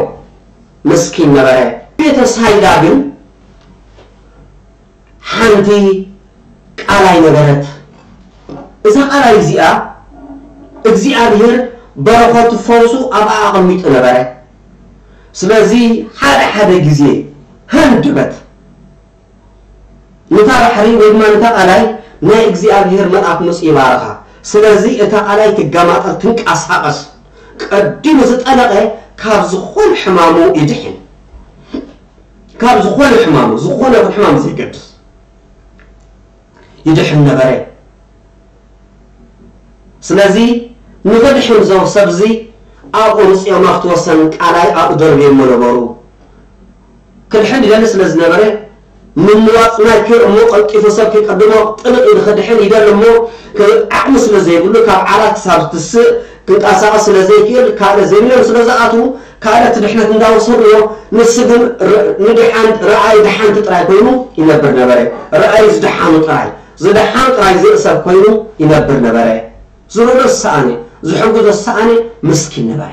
ምስኪን ነበረ። ቤተ ሳይዳ ግን ሓንቲ ቃላይ ነበረት። እዛ ቃላይ እዚኣ እግዚኣብሔር በረኸቱ ፈውሱ ኣብኣ ኣቐሚጡ ነበረ። ስለዚ ሓደ ሓደ ግዜ ሃንደበት ነታ ባሕሪ ወይ ድማ ነታ ቃላይ ናይ እግዚኣብሔር መልኣክ መጽኡ ይባርኻ። ስለዚ እታ ቃላይ ትገማጠል፣ ትንቀሳቐስ። ቀዲሙ ዝጠለቐ ካብ ዝኾነ ሕማሙ ይድሕን። ካብ ዝኾነ ሕማሙ፣ ዝኾነ ይኹን ሕማም ዘይገድስ ይድሕን ነበረ። ስለዚ ንኽድሕን እዞም ሰብዚ ኣብኡ ምጽኦም ኣብቲ ወሰን ቃላይ ኣብኡ ደርብዮሞ ነበሩ። ክድሕን ይደሊ ስለ ዝነበረ ምምዋፅ ናይ ክር እሞ ቀልጢፉ ሰብ ከይቀድሞ ጥልቕ ኢሉ ክድሕን ይደሊ እሞ ዓቕሚ ስለ ዘይብሉ ካብ ዓራት ክሳብ ዝትስእ ክንቀሳቐስ ስለ ዘይክእል ካልእ ዘይብሎም ስለ ዝኣትዉ ካልእ እቲ ድሕነት እንዳወሰድዎ ንሱ ግን ር- ንድሓን ረኣይ ድሓንቲ ጥራይ ኮይኑ ይነብር ነበረ። ረኣይ ዝደሓኑ ጥራይ ዝደሓን ጥራይ ዝርኢ ሰብ ኮይኑ ይነብር ነበረ። ዝረዶ ዝሰኣነ ዝሕግዞ ዝሰኣነ ምስኪን ነበረ።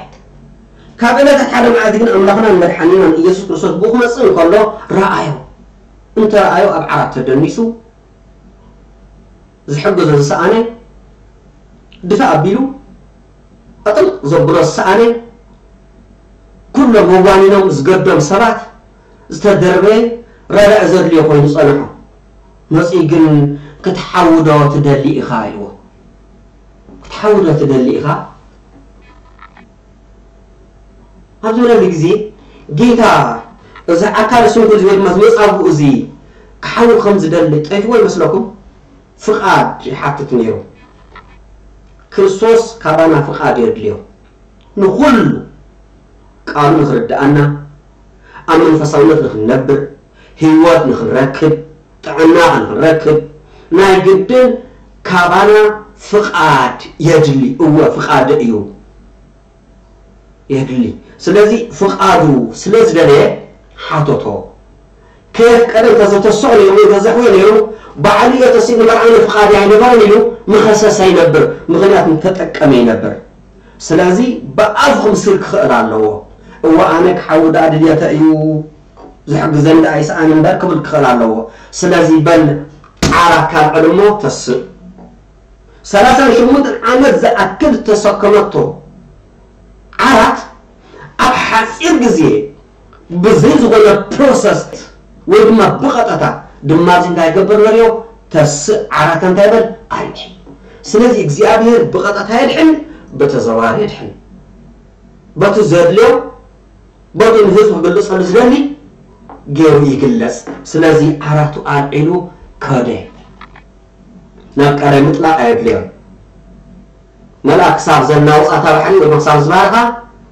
ካብ ዕለታት ሓደ መዓልቲ ግን ኣምላኽናን መድሓኒናን ኢየሱስ ክርስቶስ ብኡ ክመጽእ እንከሎ ረኣዮ። እንተ ረኣዮ ኣብ ዓራት ተደኒሱ ዝሕግዞ ዝሰኣነ ድፋ ኣቢሉ ኣጥልቕ ዘብሎ ዝሰኣነ ኩሎም ወዋኒኖም ዝገዶም ሰባት ዝተደርበ ረዳኢ ዘድልዮ ኮይኑ ጸንሖ። መጺኡ ግን ክትሓዊ ዶ ትደሊ ኢኻ ኢልዎ። ክትሓዊ ዶ ትደሊ ኢኻ ኣብ ዝበለሉ ግዜ ጌታ እዚ ኣካለ ስንኩል እዚ ወይ ድማ እዚ መጻጉዕ እዚ ክሓዊ ከም ዝደሊ ጠፊዎ ይመስለኩም? ፍቓድ ይሓትት ነይሩ። ክርስቶስ ካባና ፍቓድ የድልዮ። ንኹሉ ቃሉ ንኽርድኣና፣ ኣብ መንፈሳውነት ንኽንነብር፣ ህይወት ንኽንረክብ፣ ጥዕና ንኽንረክብ ናይ ግድን ካባና ፍቓድ የድሊ። እወ ፍቓድ እዩ የድሊ። ስለዚ ፍቓዱ ስለ ዝደለየ ሓተቶ። ከየፍቀደ እንተዘተስኦ ነይሩ ወይ ተዘሕወ ነይሩ ባዕሉ እየ ተሲኡ ንመርዓኒ ፍቓድ ኣይነበረን ኢሉ ምኸሰሰ ይነብር። ምኽንያት እንተጠቀመ ይነብር። ስለዚ ብኣፉ ክምስክር ክኽእል ኣለዎ። እወ ኣነ ክሓዊ ደኣ ድልየተ እዩ ዝሕግዘኒ ደኣ ይስኣን እምበር ክብል ክኽእል ኣለዎ። ስለዚ በል ዓራት ካልዕል እሞ ተስእ። ሰላሳን ሸሞንተን ዓመት ዝኣክል ዝተሰከመቶ ዓራት ኣብ ሓፂር ግዜ ብዘይ ዝኾነ ፕሮሰስ ወይ ድማ ብቐጠታ ድማ እዚ እንታይ ይገብር በልዮ ተስእ ዓራት እንታይ በል ኣልዒ። ስለዚ እግዚኣብሔር ብቐጠታ የድሕን ብተዘዋዋሪ የድሕን በቲ ዘድልዮ በቲ ንህዝቢ ክገልጸሉ ዝደሊ ገይሩ ይግለጽ። ስለዚ ዓራቱ ኣልዒሉ ከደ። ናብ ቀላይ ምጥላቕ ኣየድልዮን። መልኣክ ክሳብ ዘናውጻ እታ ባሕሪ ወይ ክሳብ ዝባርኻ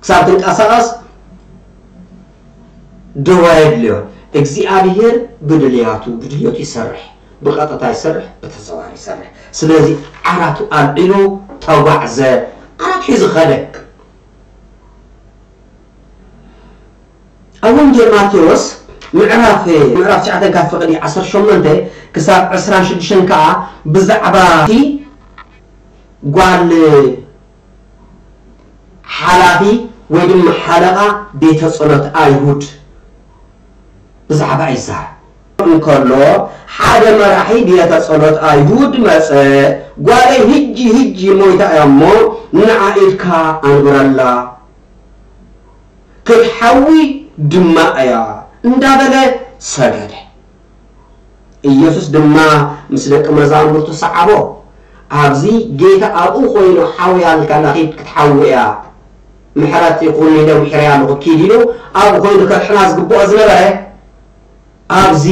ክሳብ ትንቀሳቐስ ደው ኣየድልዮን። እግዚኣብሔር ብድልያቱ ብድልየቱ ይሰርሕ፣ ብቐጥታ ይሰርሕ፣ ብተዘዋዋሪ ይሰርሕ። ስለዚ ዓራቱ ኣልዒሉ ተጓዕዘ፣ ዓራት ሒዙ ኸደ። ኣብ ወንጌል ማቴዎስ ምዕራፍ ምዕራፍ ትሽዓተ ካብ ፍቕዲ ዓሰርተ ሸሞንተ ክሳብ ዕስራን ሽዱሽተን ከኣ ብዛዕባ እቲ ጓል ሓላፊ ወይ ድማ ሓለቓ ቤተ ጸሎት ኣይሁድ ብዛዕባ ይዛረብ እንከሎ ሓደ መራሒ ቤተ ጸሎት ኣይሁድ መጸ። ጓለይ ህጂ ህጂ ሞይታ እያ እሞ ንዓ ኢድካ ኣንብረላ ክትሓዊ ድማ እያ እንዳበለ ሰገደ። ኢየሱስ ድማ ምስ ደቂ መዛሙርቱ ሰዓቦ። ኣብዚ ጌታ ኣብኡ ኮይኑ ሓውያ ኣልካ ናኺድ ክትሓዊ እያ ምሕረት ይኹን ኢለ ምሕረያ ኣለኹ ኪድ ኢሉ ኣብኡ ኮይኑ ከድሕና ዝግብኦ ዝነበረ ኣብዚ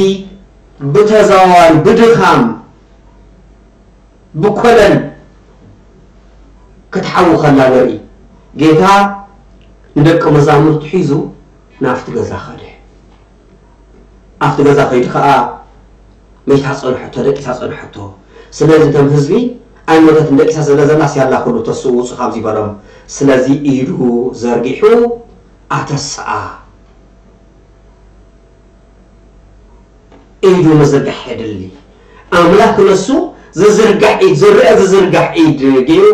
ብተዘዋዋሪ ብድኻም ብኮለል ክትሓዊ ከላ ንርኢ። ጌታ ንደቂ መዛሙርቱ ሒዙ ናብቲ ገዛ ኸደ። ኣብቲ ገዛ ከይዱ ኸዓ መይታ ጸንሐቶ፣ ደቂሳ ጸንሐቶ። ስለዚ እቶም ህዝቢ ኣይሞተትን ደቂሳ ስለ ዘላስ ያላ ኩሉ ተስኡ ውጹ ካብዚ በሎም። ስለዚ ኢዱ ዘርጊሑ ኣተስኣ። ኢዱ ምዝርጋሕ የድሊ። ኣምላኽ ነሱ ዝዝርጋሕ ኢድ፣ ዝርአ ዝዝርጋሕ ኢድ ገይሩ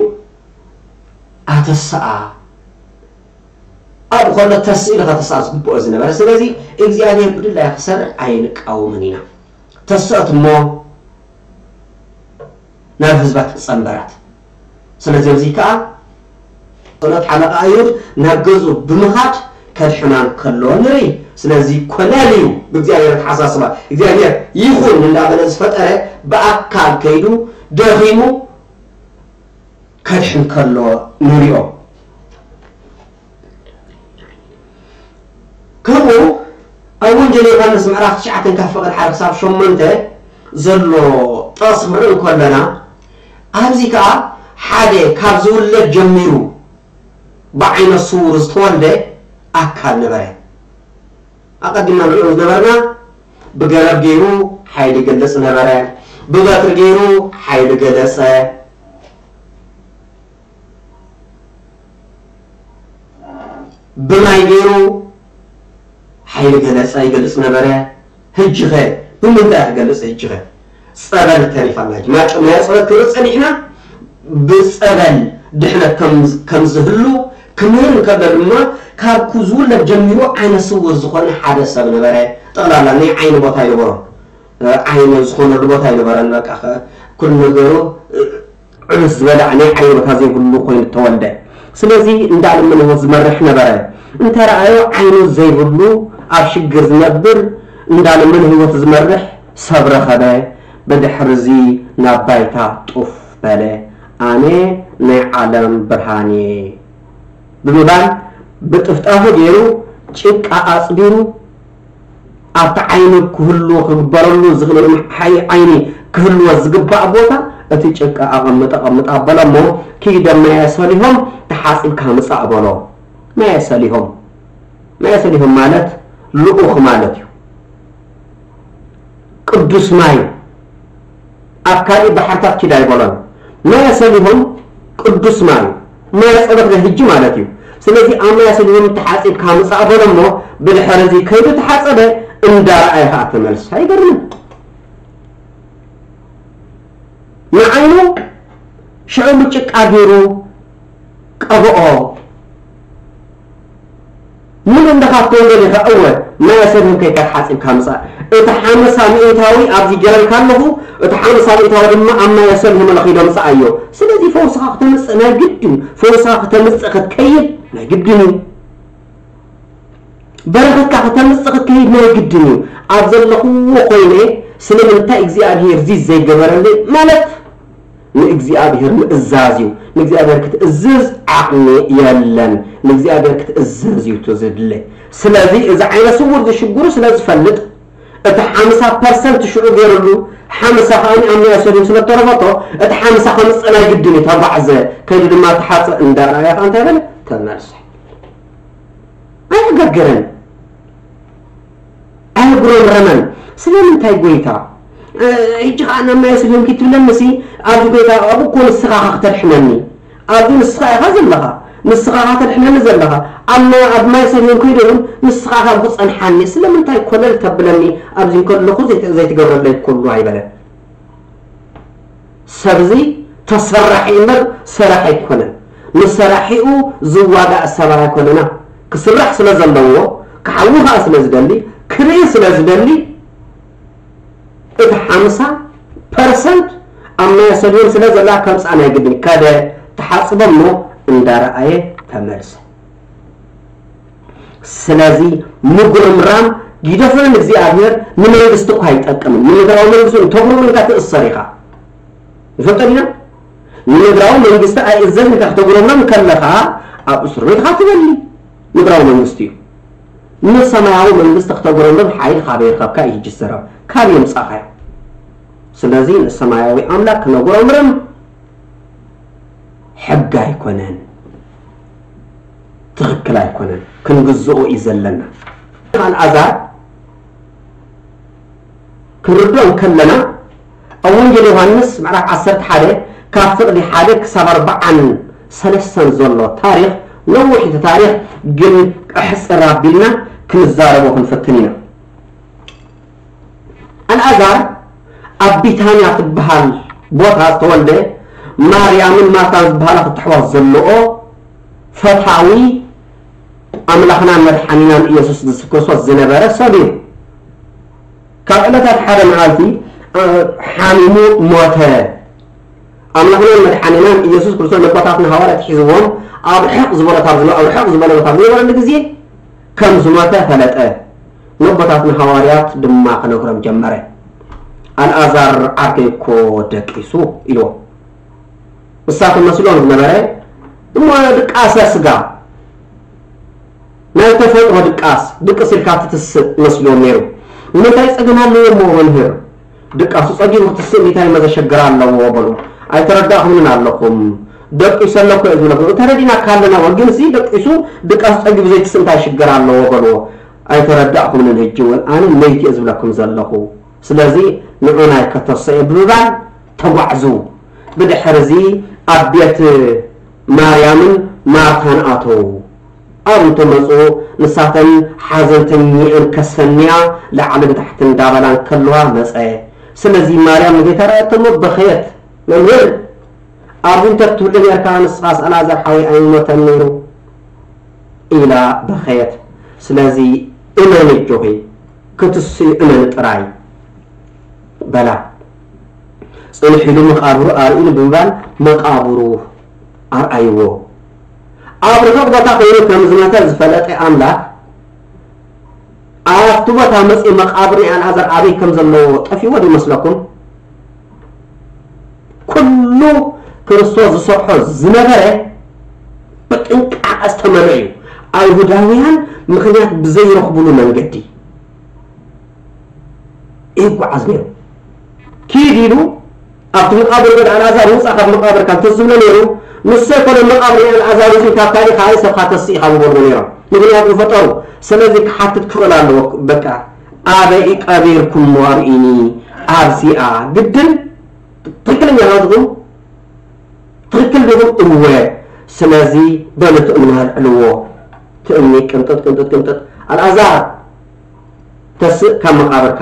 ኣተስኣ። ኣብ ኮሎ ተስእ ኢሉ ከተስኣ ዝግብኦ ዝነበረ። ስለዚ እግዚኣብሔር ብድላይ ክሰርዕ ኣይንቃወምን ኢና። ተስኦት እሞ ናብ ህዝባ ትጸንበራት። ስለዚ ኣብዚ ከኣ ጸሎት ሓለቓ ኣይሁድ ናብ ገዝኡ ብምኻድ ከድሕና እንከሎ ንርኢ። ስለዚ ኮለል እዩ ብእግዚኣብሔር ኣተሓሳስባ። እግዚኣብሔር ይኹን እንዳበለ ዝፈጠረ ብኣካል ከይዱ ደኺሙ ከድሕን ከሎ ንሪኦ። ከምኡ ኣብ ወንጌል ዮሃንስ ምዕራፍ ትሽዓተ ካብ ፍቕድ ሓደ ክሳብ ሸሞንተ ዘሎ ጥቕሲ ክንርኢ እንከለና፣ ኣብዚ ከኣ ሓደ ካብ ዝውለድ ጀሚሩ ብዓይነ ስውር ዝተወልደ ኣካል ነበረ። ኣቐዲምና ንሪኦ ዝነበርና ብገረብ ገይሩ ሓይሊ ይገልጽ ነበረ፣ ብበትሪ ገይሩ ሓይሊ ገለጸ። ብማይ ገይሩ ሓይሊ ገለጸ፣ ይገልጽ ነበረ። ሕጂ ኸ ብምንታይ ክገልጽ? ሕጂ ኸ ጸበል ተሪፋና። ማጨ ማየ ጸበል ክርኢ ጸኒሕና ብጸበል ድሕነት ከም ከም ዝህሉ ክምህር እንከሎ ድማ ካብ ኩ ዝውለድ ጀሚሩ ዓይነ ስውር ዝኾነ ሓደ ሰብ ነበረ። ጠቕላላ ናይ ዓይኒ ቦታ ይነበሮ። ዓይኒ ዝኾነሉ ቦታ ኣይነበረን። በቃ ከ-፣ ኩሉ ነገሩ፣ እ፣ ዕብስ ዝበለ ናይ ዓይኒ ቦታ ዘይብሉ ኮይኑ ተወልደ። ስለዚ እንዳለመነ ህይወት ዝመርሕ ነበረ። እንተረኣዮ ዓይኑ ዘይብሉ ኣብ ሽግር ዝነብር እንዳለመነ ህይወት ዝመርሕ ሰብ ረኸበ። ብድሕርዚ ናብ ባይታ ጡፍ በለ። ኣነ ናይ ዓለም ብርሃን እየ ብምባል ብጥፍጣፉ ገይሩ ጭቃ ኣጽቢሩ ኣብቲ ዓይኑ ክህልዎ ክግበረሉ ዝኽእል ሓይ ዓይኒ ክህልዎ ዝግባእ ቦታ እቲ ጭቃ ኣቐምጥ ኣቐምጥ ኣበለ እሞ ኪደ ማየ ሰሊሆም ተሓጺብካ ምጻእ በሎ። ማየ ሰሊሆም፣ ማየ ሰሊሆም ማለት ልኡኽ ማለት እዩ። ቅዱስ ማይ ኣብ ካልእ ባሕርታት ኪድ ኣይበሎን። ማየ ሰሊሆም ቅዱስ ማይ፣ ማየ ጸሎት ናይ ህጂ ማለት እዩ። ስለዚ ኣብ ማየ ሰሊሆም ተሓጺብካ ምጻእ በሎ እሞ ብድሕሪ እዚ ከይዱ ተሓጸበ፣ እንዳረኣየ ከኣ ተመልሰ። ኣይገርምን? ንዓይኑ ሽዑ ብጭቃ ገይሩ ቀብኦ። ምሉእ እንደ ካብ ኮንጎ ዲኻ? እወ፣ ማይ ኣሰልህም ከይካ ተሓጺብካ ምጻእ። እቲ ሓምሳ ሚእታዊ ኣብዚ ገረልካ ኣለኹ፣ እቲ ሓምሳ ሚእታዊ ድማ ኣብ ማይ ኣሰልህም ለኺዶ ምጻኣዮ። ስለዚ ፈውስኻ ክተምጽእ ናይ ግድን እዩ። ፈውስኻ ክተምጽእ ክትከይድ ናይ ግድን እዩ። በረኸትካ ክተምጽእ ክትከይድ ናይ ግድን እዩ። ኣብ ዘለኽዎ ኮይነ ስለምንታይ እግዚኣብሔር እዚ ዘይገበረለይ ማለት ንእግዚኣብሔር ምእዛዝ እዩ። ንእግዚኣብሔር ክትእዝዝ ዓቕሚ የለን። ንእግዚኣብሔር ክትእዘዝ እዩ እቲ ዝድለ። ስለዚ እዚ ዓይነ ስውር ዝሽግሩ ስለ ዝፈልጥ እቲ ሓምሳ ፐርሰንት ሽዑ ገይሩሉ ሓምሳ ከኣ ኣብ ናይ ሰሊም ስለ ተረፈቶ እቲ ሓምሳ ከምጽእ ናይ ግድን እዩ። ተጓዕዘ ከይዱ ድማ ተሓጸ እንዳረኣያ ከኣ እንታይ በለ? ተመልሰ። ኣይገገረን። ኣየጉረምረመን። ስለምንታይ ጎይታ? እ፣ ሕጂ ኸዓ ናብ ማይ ስልዮም ኪትብለኒ ሲ፣ ኣብዚ ጎይታ ኣብኡ እኮ ንስኻ ኸ ክተድሕነኒ። ኣብዚ ንስኻ ኢኻ ዘለኻ። ንስኻ ኸ ተድሕነኒ ዘለኻ። ኣብ ማይ፣ ኣብ ማይ ስልዮም ከይደ እውን ንስኻ ኢኻ ክጸንሓኒ። ስለምንታይ ኮለል ተብለኒ? ኣብዚ እንከለኹ ዘይተ-፣ ዘይትገብረለይ ኩሉ ኣይበለን። ሰብዚ ተሰራሒ እምበር ሰራሕ ኣይኮነን። ንሰራሒኡ ዝዋጋእ ሰብ ኣይኮነና። ክስራሕ ስለ ዘለዎ፣ ክሓዊ ኸኣ ስለ ዝደሊ፣ ክርኢ ስለ ዝደሊ፣ እቲ ሓምሳ ፐርሰንት ኣብ ማይ ሰልዮን ስለ ዘላ ከምጽኣ ናይ ግድን ከደ ተሓጽበ እሞ እንዳረኣየ ተመልሰ። ስለዚ ምጉርምራም ግደፎ ንእግዚኣብሔር ንመንግስቲ እኳ ኣይጠቅምን። ንምድራዊ መንግስቲ እውን ተጉርምርም ኢልካ ትእሰር ኢኻ። ንፈልጦ ዲና? ንምድራዊ መንግስቲ ኣይእዘዝን ኢልካ ክተጉረምረም ከለኻ ኣብ እስር ቤት ኢኻ ትበሊ። ምድራዊ መንግስቲ እዩ። ንሰማያዊ መንግስቲ ክተጉረምርም ሓይሊ ካበይ ረኸብካ እዩ ሕጂ ዝዘረብ? ካበይ ኣምጻእካዮ? ስለዚ ንሰማያዊ ኣምላክ ክነጉረምርም ሕጊ ኣይኮነን፣ ትኽክል ኣይኮነን፣ ክንግዝኦ እዩ ዘለና። ኣልዓዛር ክንርድኦ እንከለና፣ ኣብ ወንጌል ዮሃንስ ምዕራፍ ዓሰርተ ሓደ ካብ ፍቕዲ ሓደ ክሳብ ኣርባዓን ሰለስተን ዘሎ ታሪኽ ነዊሕ እቲ ታሪኽ፣ ግን ኣሕጽር ኣቢልና ክንዛረቦ ክንፍትን ኢና። ኣልኣዛር ኣብ ቢታንያ ትበሃል ቦታ ዝተወልደ፣ ማርያምን ማርታን ዝበሃላ ክልተ ኣሕዋት ዘለኦ፣ ፈታዊ ኣምላኽናን መድሓኒናን ኢየሱስ ክርስቶስ ዝነበረ ሰብ እዩ። ካብ ዕለታት ሓደ መዓልቲ፣ እ፣ ሓሚሙ ሞተ። ኣምላኽናን መድሓኒናን ኢየሱስ ክርስቶስ ነቦታትና ሃዋርያት ሒዝዎም ኣብ ርሕቕ ዝበለ፣ ካብ ዝነ-፣ ኣብ ርሕቕ ዝበለ ቦታ ኣብ ዝነበረሉ ግዜ ከም ዝሞተ ፈለጠ። ነቦታትና ሃዋርያት ድማ ክነግሮም ጀመረ። "ኣልኣዛር ዓርከይ እኮ ደቂሱ" ኢልዎ። እሳቶም መስሎም ዝነበረ እሞ ድቃሰ ስጋ፣ ናይ ተፈጥሮ ድቃስ፣ ድቅስ ኢልካ ትትስእ መስልዎም ነይሩ። ንምንታይ ጸገም ኣለዎ እሞ መምህር? ድቃሱ ጸጊቡ ክትስእ እንታይ መዘሸግር ኣለዎ? በሉ። "ኣይተረዳእኹምን ኣለኹም። ደቂሱ ኣሎ እኮ እዩ ዝብለኩም። ተረዲናካ ኣለና፣ ግን ሲ ደቂሱ ድቃሱ ጸጊቡ ዘይትስእ እንታይ ሽግር ኣለዎ?" በልዎ። "ኣይተረዳእኹምን፣ ሕጂ እውን ኣነ መይቲ እየ ዝብለኩም ዘለኹ። ስለዚ ንዑ ናይ ከተሰ" ብምባል ተጓዕዙ። ብድሕርዚ ኣብ ቤት ማርያምን ማርታን ኣተዉ። ኣብ እንተመጹ ንሳተን ሓዘንተኛኣን ከሰንያ ላዕልን ታሕትን እንዳበላ እንከለዋ መጸ። ስለዚ ማርያም ንጌታ ረኣየቶ እሞ በኸየት። "መምህር፣ ኣብዚ እንተትህሉ ነርካ ንስኻስ ኣልኣዛር ሓወይ ኣይሞተን ነይሩ" ኢላ በኸየት። ስለዚ እመኒ ኣጆኺ፣ ክትስኢ እመኒ ጥራይ በላ። ጽንሕ ኢሉ መቓብሩ ኣርእዩኒ ብምባል መቓብሩ ኣርኣይዎ። ኣብ ርሑቕ ቦታ ኮይኑ ከም ዝሞተ ዝፈለጠ ኣምላኽ ኣብቲ ቦታ መጺኡ መቓብር ናይ ኣልኣዛር ኣበይ ከም ዘለዎ ጠፊእዎ ዶ ይመስለኩም? ኩሉ ክርስቶስ ዝሰርሖ ዝነበረ ብጥንቃቐ ዝተመልኦ እዩ። ኣይሁዳውያን ምኽንያት ብዘይረኽቡሉ መንገዲ ይጓዓዝ ነይሩ። ኪድ ኢሉ ኣብቲ መቓብር ወደ ኣልኣዛር ውፃእ ካብ መቓብርካ እንተዝብሎ ነይሩ፣ ንሱ ኣይኮነ መቓብር ናይ ኣልኣዛር እዚ ካብ ካልእ ካልእ ሰብካ ተስእ ኢኻ ምበልዎ ነይሮም። ምኽንያቱ ፈጠሩ። ስለዚ ክሓትት ክኽእል ኣለዎ። በቃ ኣበይ ቀቢርኩሞ ኣርእዩኒ ኣብዚኣ። ግድን ትኽክለኛ ናትኩም ትኽክል ዲኹም? እወ። ስለዚ በሉ ትእምና ኣልዕልዎ። ትእምኒ ቅንጥጥ ቅንጥጥ ቅንጥጥ። ኣልኣዛር ተስእ ካብ መቓብርካ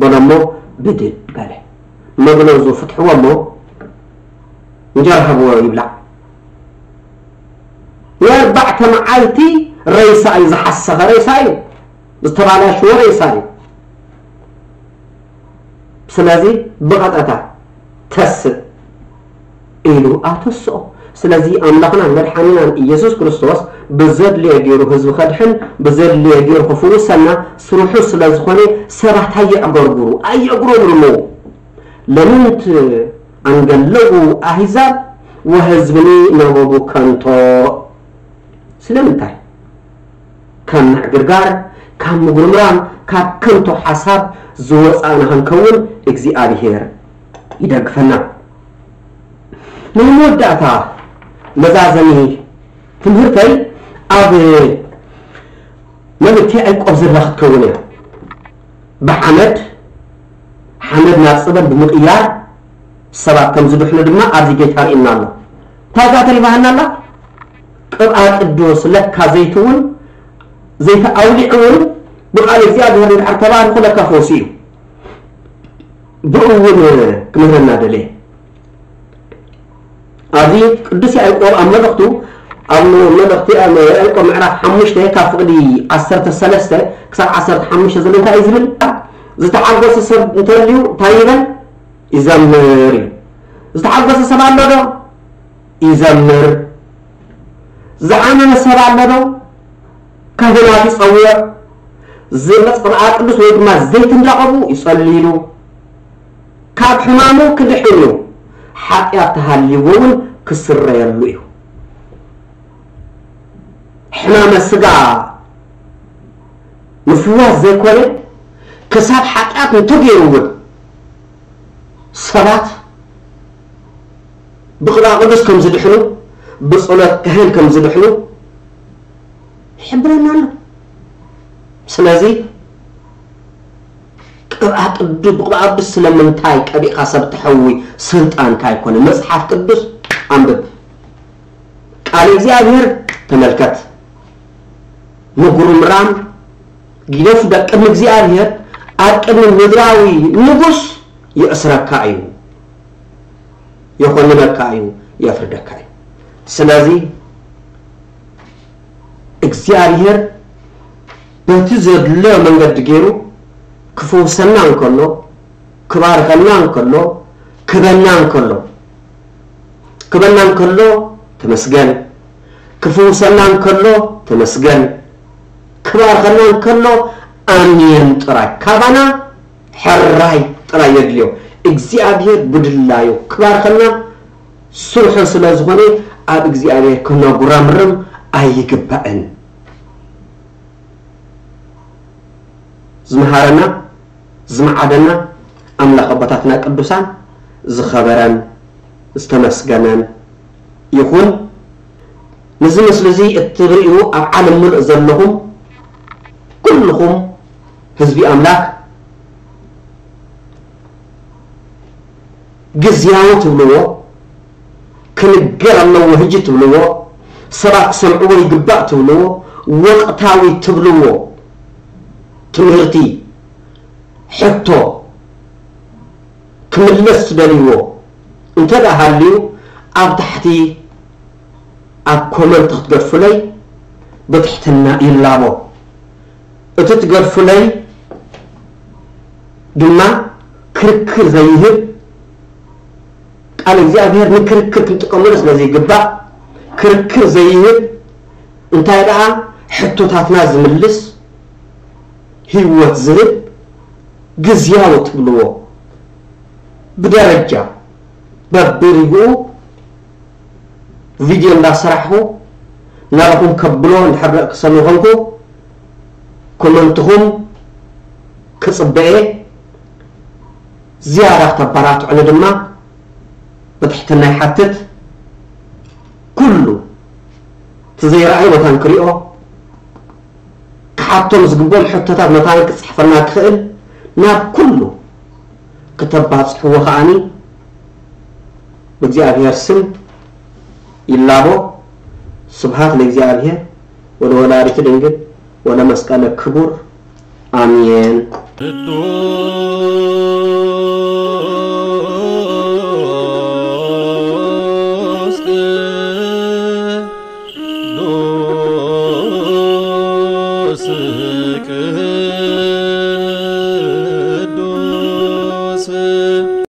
በሎ እሞ ብድድ በለ። መግነዙ ፍትሕዎ እሞ እንጀራ ሃብዎ ይብላዕ። ንኣርባዕተ መዓልቲ ሬሳ እዩ፣ ዝሓሰኸ ሬሳ እዩ፣ ዝተባላሸወ ሬሳ እዩ። ስለዚ ብቐጠታ ተስእ ኢሉ ኣተስኦ። ስለዚ ኣምላኽናን መድሓኒናን ኢየሱስ ክርስቶስ ብዘድልዮ ገይሩ ህዝቢ ከድሕን፣ ብዘድልዮ ገይሩ ክፍውሰና ስርሑ ስለ ዝኾነ ሰባት ኣየዕገርግሩ፣ ኣየእጉረምርሙ። ለምንት ኣንገለጉ ኣህዛብ ወህዝብኒ ነበቡ ከንቶ። ስለምንታይ? ካብ ምዕግርጋር፣ ካብ ምጉርምራም፣ ካብ ከንቱ ሓሳብ ዝወፃእና ክንከውን እግዚኣብሄር ይደግፈና። ናይ መወዳእታ መዛዘሚ ትምህርተይ ኣብ መልእክቲ ያዕቆብ ዘላ ክትከውን እያ። ብሓመድ፣ ሓመድ ናብ ጸበል ብምቕያር ሰባት ከም ዝድሕኑ ድማ ኣብዚ ጌታ ርእና ኣሎ። እንታይ ከኣ ተሪፋና ኣላ? ቅብኣ ቅዱስ ለካ ዘይትውን ዘይተኣውሊዕ እውን ብቃል እግዚኣብሔር እንድሕር ተባሪኹ ለካ ፈውሲ እዩ። ብኡ እውን ክምህረና ደለየ። ኣብዚ ቅዱስ ያዕቆብ ኣብ መልእኽቱ ኣብ መልእኽቲ ያዕቆብ ምዕራፍ ሓሙሽተ ካብ ፍቕዲ ዓሰርተ ሰለስተ ክሳብ ዓሰርተ ሓሙሽተ ዘሎ እንታይ እዩ ዝብል? ዝተሓጎሰ ሰብ እንተልዩ እንታይ ይበል? ይዘምር እዩ። ዝተሓጎሰ ሰብ ኣሎ ዶ? ይዘምር። ዝሓመመ ሰብ ኣሎ ዶ? ካህናት ይጸውዕ። ዝመጽ ቅብኣ ቅዱስ ወይ ድማ ዘይት እንዳቐቡ ይጸልይሉ። ካብ ሕማሙ ክድሕን እዩ። ሓጢኣት ተሃልይዎ እውን ክስረየሉ እዩ። ሕማመ ስጋ ምፍዋስ ዘይኮነ ክሳብ ሓጢኣት እንተገይሩ እውን ሰባት ብቕብኣ ቅዱስ ከም ዝድሕኑ ብጸሎት ካህን ከም ዝድሕኑ ይሕብረና ኣሎ። ስለዚ ቅብኣ ቅዱስ ብቅብኣ ቅዱስ ስለምንታይ ቀቢእካ ሰብ ትሐዊ? ስልጣንካ ኣይኮነ። መጽሓፍ ቅዱስ ኣንብብ። ቃል እግዚኣብሔር ተመልከት። ምጉርምራም ግደፍ። ቅድሚ እግዚኣብሔር ኣብ ቅድሚ ምድራዊ ንጉስ ይእስረካ እዩ፣ የኾንነካ እዩ፣ የፍርደካ እዩ። ስለዚ እግዚኣብሔር በቲ ዘድሎ መንገዲ ገይሩ ክፈውሰና እንከሎ፣ ክባርከና እንከሎ፣ ክበና እንከሎ፣ ክበና እንከሎ ተመስገን፣ ክፍውሰና እንከሎ ተመስገን፣ ክባርከና እንከሎ ኣሜን ጥራይ። ካባና ሕራይ ጥራይ የድልዮ። እግዚኣብሔር ብድላዩ ክባርከና ስርሑ ስለ ዝኾነ ኣብ እግዚኣብሔር ክነጉረምርም ኣይግባእን። ዝመሃረና ዝመዓደና ኣምላኽ ኣቦታትና ቅዱሳን ዝኸበረን ዝተመስገነን ይኹን። ነዚ ምስሊ እዚ እትርእዩ ኣብ ዓለም ምሉእ ዘለኹም ኩልኹም ህዝቢ ኣምላኽ ግዝያዊ ትብልዎ፣ ክንገር ኣለዎ ህጂ ትብልዎ፣ ሰባት ክሰምዕዎ ይግባእ ትብልዎ፣ ወቕታዊ ትብልዎ ትምህርቲ፣ ሕቶ ክምለስ ትደልይዎ እንተ ደኣ ሃልዩ ኣብ ታሕቲ ኣብ ኮመንት ክትገድፉለይ ብትሕትና ይላቦ። እቲ ትገድፉለይ ድማ ክርክር ዘይህብ፣ ቃል እግዚኣብሔር ንክርክር ክንጥቀመሉ ስለ ዘይግባእ፣ ክርክር ዘይህብ፣ እንታይ ደኣ ሕቶታትና ዝምልስ፣ ህይወት ዝህብ፣ ግዝያዊ ትብልዎ ብደረጃ በብሪግኡ ቪድዮ እንዳሰራሕኹ ናባኹም ከብሎ እንድሕር ደቂ ሰብ ምኾንኩ፣ ኮመንትኹም ክጽበ እየ። ዝያዳ ክተበራትዑኒ ድማ ብትሕትና ይሓትት። ኩሉ እቲ ዘይረኣዮ መታን ክሪኦ፣ ክሓቶም ዝግብኦም ሕቶታት መታን ክጽሕፈልና ክኽእል ናብ ኩሉ ክተባጽሕዎ ከኣኒ ብእግዚኣብሔር ስም ይላቦ። ስብሃት ለእግዚኣብሔር ወለወላዲቱ ድንግል ወለመስቀለ ክቡር። ኣሜን። ቅዱስ ቅዱስ ቅዱስ